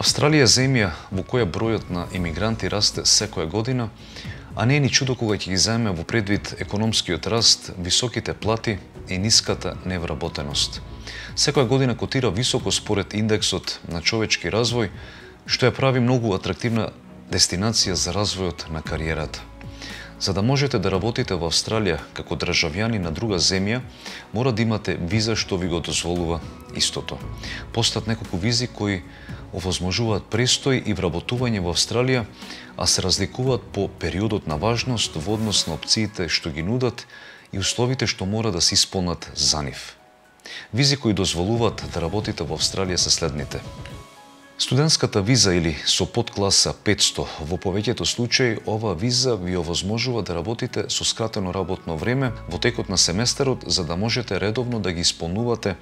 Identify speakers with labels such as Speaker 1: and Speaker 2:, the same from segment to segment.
Speaker 1: Австралија е земја во која бројот на имигранти расте секоја година, а не е ни чудо кога ќе ги заеме во предвид економскиот раст, високите плати и ниската невработеност. Секоја година котира високо според индексот на човечки развој, што ја прави многу атрактивна дестинација за развојот на кариерата. За да можете да работите во Австралија како државјани на друга земја, мора да имате виза што ви го дозволува истото. Постојат неколку визи кои овозможуваат престој и вработување во Австралија, а се разликуваат по периодот на важност во однос на опциите што ги нудат и условите што мора да се исполнат за нив. Визи кои дозволуваат да работите во Австралија се следните. Студентската виза или со подкласа 500, во повеќето случаи ова виза ви овозможува да работите со скратено работно време во текот на семестарот за да можете редовно да ги исполнувате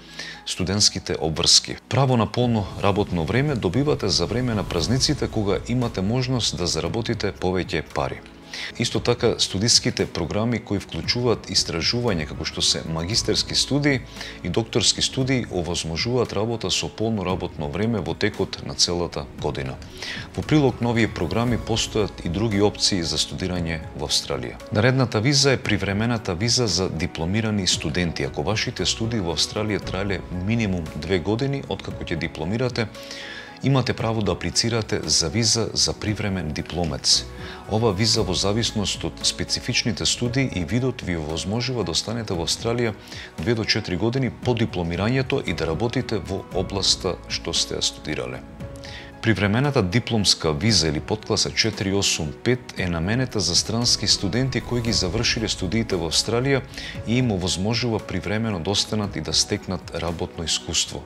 Speaker 1: студентските обврски. Право на полно работно време добивате за време на празниците кога имате можност да заработите повеќе пари. Исто така, студиските програми кои вклучуваат истражување како што се магистерски студии и докторски студии овозможуваат работа со полно работно време во текот на целата година. Во прилог на овие програми постојат и други опции за студирање во Австралија. Наредната виза е привремената виза за дипломирани студенти. Ако вашите студии во Австралија траеле минимум 2 години откако ќе дипломирате, имате право да аплицирате за виза за привремен дипломец. Ова виза во зависност од специфичните студии и видот ви овозможува да останете во Австралија 2 до 4 години по дипломирањето и да работите во областа што сте ја студирале. Привремената дипломска виза или подкласа 485 е наменета за странски студенти кои ги завршиле студиите во Австралија и им овозможува привремено да останат и да стекнат работно искуство.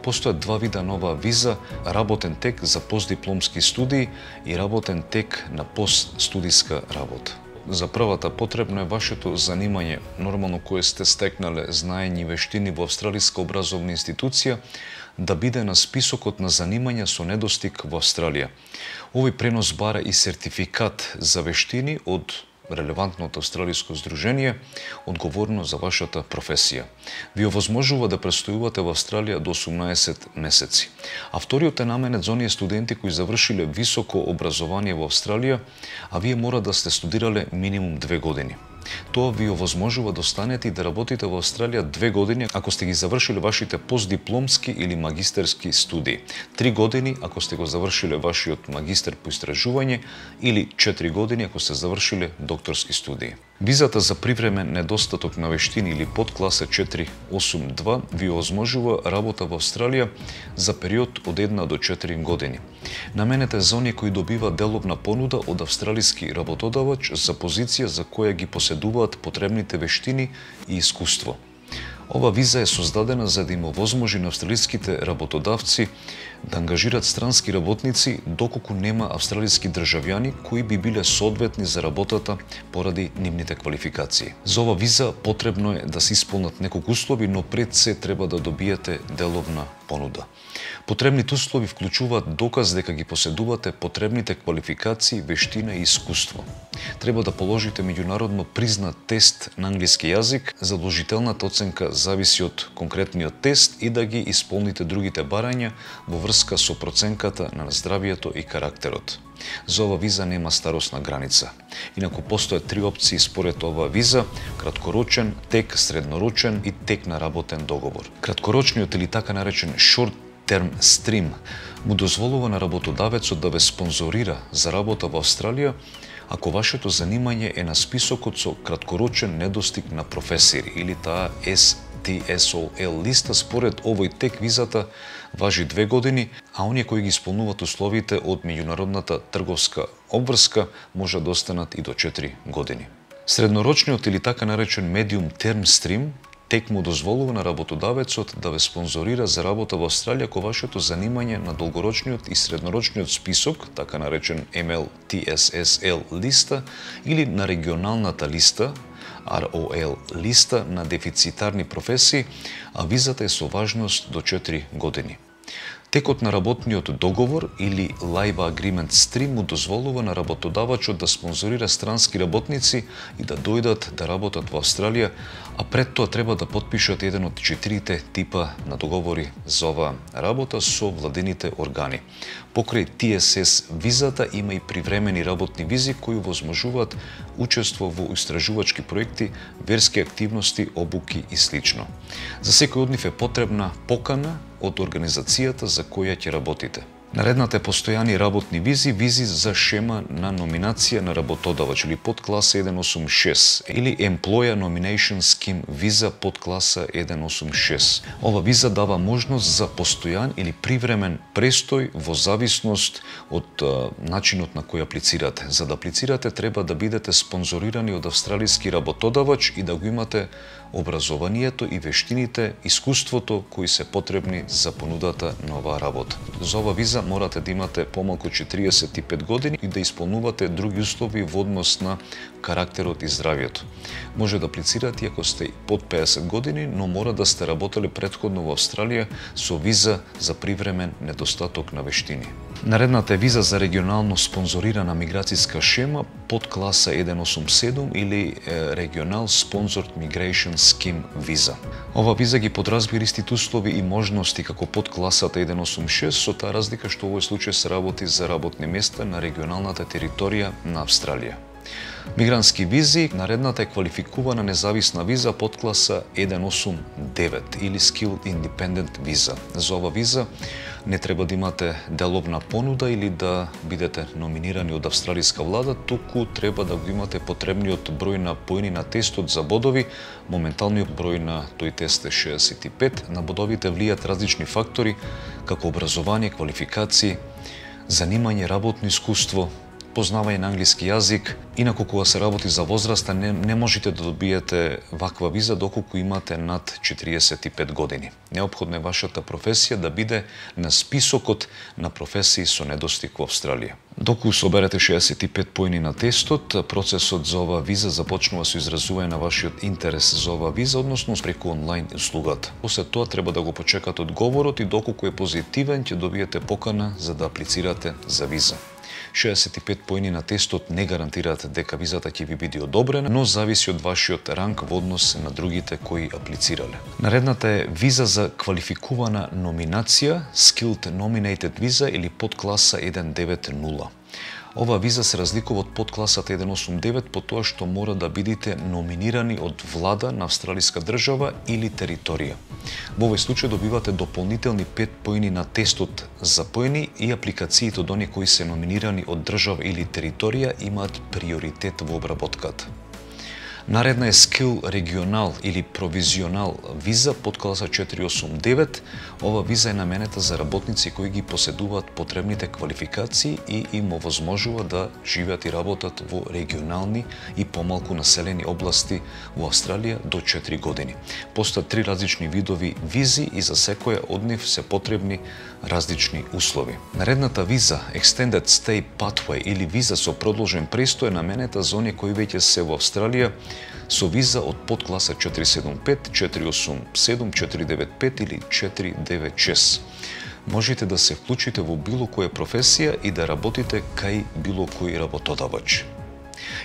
Speaker 1: Постојат два вида нова виза: работен тек за постдипломски студии и работен тек на постстудиска работа. За првата потребно е вашето занимање, нормално кое сте стекнале знаење и вештини во австралиска образовна институција, да биде на списокот на занимања со недостиг во Австралија. Овој пренос бара и сертификат за вештини од релевантното австралиско здружение, одговорно за вашата професија. Ви овозможува да престојувате во Австралија до 18 месеци. А вториот е наменет за оние студенти кои завршиле високо образование во Австралија, а вие мора да сте студирале минимум 2 години. Тоа ви овозможува да останете и да работите во Австралија 2 години ако сте ги завршиле вашите постдипломски или магистерски студии, 3 години ако сте го завршиле вашиот магистер по истражување или 4 години ако сте завршиле докторски студии. Визата за привремен недостаток на вештини или подкласа 482 ви овозможува работа во Австралија за период од 1 до 4 години. Наменета е за оние кои добиваат деловна понуда од австралиски работодавач за позиција за која ги поседуваат потребните вештини и искуство. Ова виза е создадена за да им овозможи на австралиските работодавци да ангажираат странски работници доколку нема австралиски државјани кои би биле соодветни за работата поради нивните квалификации. За ова виза потребно е да се исполнат неколку услови, но пред се треба да добиете деловна понуда. Потребните услови вклучуваат доказ дека ги поседувате потребните квалификации, вештина и искуство. Треба да положите меѓународно признат тест на англиски јазик, задолжителната оценка зависи од конкретниот тест и да ги исполните другите барања во врска со проценката на здравието и карактерот. За ова виза нема старосна граница. Инаку постојат 3 опции според ова виза: краткорочен, тек, среднорочен и тек на работен договор. Краткорочниот или така наречен short term stream му дозволува на работодавецот да ве спонзорира за работа во Австралија ако вашето занимање е на списокот со краткорочен недостиг на професии или таа STSOL листа. Според овој тек визата важи 2 години, а оние кои ги исполнуваат условите од меѓународната трговска обврска може да останат и до 4 години. Среднорочниот или така наречен medium term stream тек му дозволува на работодавецот да ве спонзорира за работа во Австралија ако вашето занимање на долгорочниот и среднорочниот список, така наречен MLTSSL листа, или на регионалната листа, ROL листа на дефицитарни професии, а визата е со важност до 4 години. Текот на работниот договор или Labor Agreement Stream му дозволува на работодавачот да спонзорира странски работници и да дојдат да работат во Австралија, а пред тоа треба да потпишат еден од 4 типа на договори за оваа работа со владините органи. Покрај TSS визата има и привремени работни визи кои возможуваат учество во истражувачки проекти, верски активности, обуки и слично. За секој од нив е потребна покана од организацијата за која ќе работите. Наредната е постојани работни визи, визи за шема на номинација на работодавач или подкласа 186 или Employer Nomination Scheme виза подкласа 186. Ова виза дава можност за постојан или привремен престој во зависност од начинот на кој аплицирате. За да аплицирате треба да бидете спонзорирани од австралиски работодавач и да го имате образованието и вештините, искуството кои се потребни за понудата на оваа работа. За ова виза морате да имате помалку 45 години и да исполнувате други услови во однос на карактерот и здравието. Може да аплицирате ако сте под 50 години, но мора да сте работеле претходно во Австралија со виза за привремен недостаток на вештини. Наредната е виза за регионално спонзорирана миграцијска шема под класа 187 или Regional Sponsored Migration Scheme виза. Ова виза ги подразбира истите услови и можности како под класата 186, со таа разлика што во овој случај се работи за работни места на регионалната територија на Австралија. Мигрантски визи, наредната е квалификувана независна виза под класа 189 или Skilled Independent виза. За ова виза не треба да имате деловна понуда или да бидете номинирани од австралиска влада, туку треба да го имате потребниот број на поени на тестот за бодови. Моменталниот број на тој тест е 65. На бодовите влијат различни фактори, како образование, квалификации, занимање, работно искуство, познавање на англиски јазик. Инаку кога се работи за возраста не можете да добиете ваква виза доколку имате над 45 години. Неопходно е вашата професија да биде на списокот на професии со недостиг во Австралија. Доколку соберете 65 поени на тестот, процесот за оваа виза започнува со изразување на вашиот интерес за оваа виза, односно преку онлайн услугата. После тоа треба да го почекате одговорот и доколку е позитивен ќе добиете покана за да аплицирате за виза. 65 поени на тестот не гарантираат дека визата ќе ви биде одобрена, но зависи од вашиот ранг во однос на другите кои аплицирале. Наредната е виза за квалификувана номинација, Skilled Nominated виза или подкласа 190. Ова виза се разликува од подкласата 189 по тоа што мора да бидете номинирани од влада на австралиска држава или територија. Во овој случај добивате дополнителни 5 поени на тестот за поени и апликациите од оние кои се номинирани од држава или територија имаат приоритет во обработката. Наредна е Skill Regional или Провизионал виза под класа 489. Ова виза е наменета за работници кои ги поседуваат потребните квалификации и им овозможува да живеат и работат во регионални и помалку населени области во Австралија до 4 години. Постојат 3 различни видови визи и за секоја од нив се потребни различни услови. Наредната виза Extended Stay Pathway или виза со продолжен престој е наменета за оние кои веќе се во Австралија со виза од подкласа 475, 487, 495 или 496. Можете да се вклучите во било која професија и да работите кај било кој работодавач.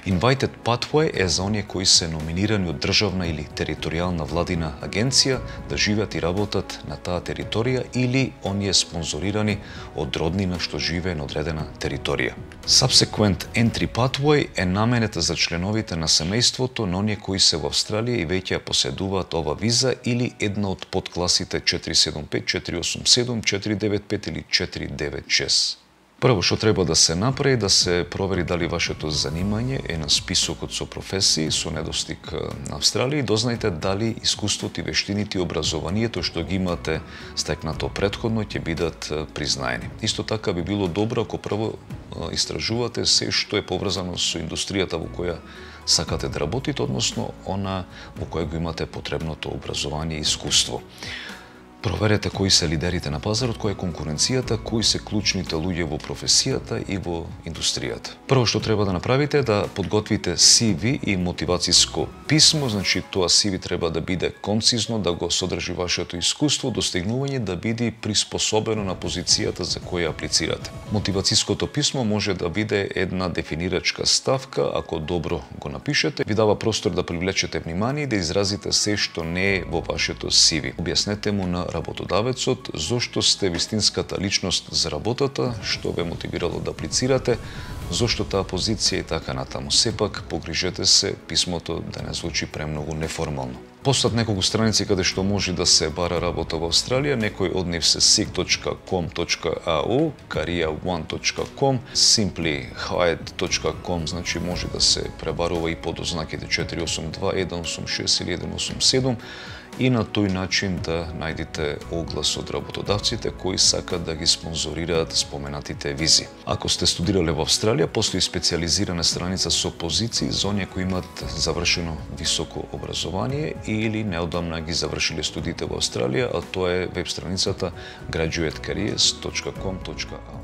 Speaker 1: Invited Pathway е за оние кои се номинирани од државна или територијална владина агенција да живеат и работат на таа територија или оние спонзорирани од роднина што живее на одредена територија. Subsequent Entry Pathway е наменета за членовите на семејството на оние кои се во Австралија и веќе ја поседуваат ова виза или една од подкласите 475, 487, 495 или 496. Прво што треба да се направи да се провери дали вашето занимање е на списокот со професии со недостиг на Австралија и дознајте дали искуството и вештините и образованието што ги имате стекнато претходно ќе бидат признаени. Исто така би било добро ако прво истражувате се што е поврзано со индустријата во која сакате да работите, односно она во која го имате потребното образование и искуство. Проверете кои се лидерите на пазарот, која е конкуренцијата, кои се клучните луѓе во професијата и во индустријата. Прво што треба да направите е да подготвите CV и мотивациско писмо, значи тоа CV треба да биде концизно, да го содржи вашето искуство, достигнување, да биде приспособено на позицијата за која аплицирате. Мотивациското писмо може да биде една дефинирачка ставка, ако добро го напишете, ви дава простор да привлечете внимание и да изразите се што не е во вашето CV. Објаснете му на работодавецот зошто сте вистинската личност за работата, што ве мотивирало да аплицирате, зошто таа позиција и така натаму. Сепак погрижете се писмото да не звучи премногу неформално. Постојат неколку страници каде што може да се бара работа во Австралија, некои од нив се seek.com.au, career1.com, simplyhired.com, значи може да се пребарува и под ознаките 482, 186 или 187, и на тој начин да најдете оглас од работодавците кои сакат да ги спонзорираат споменатите визи. Ако сте студирале во Австралија, постои специјализирана страница со позиции за оние кои имаат завршено високо образование или неодамна ги завршиле студиите во Австралија, а тоа е веб страницата graduatecareers.com.au.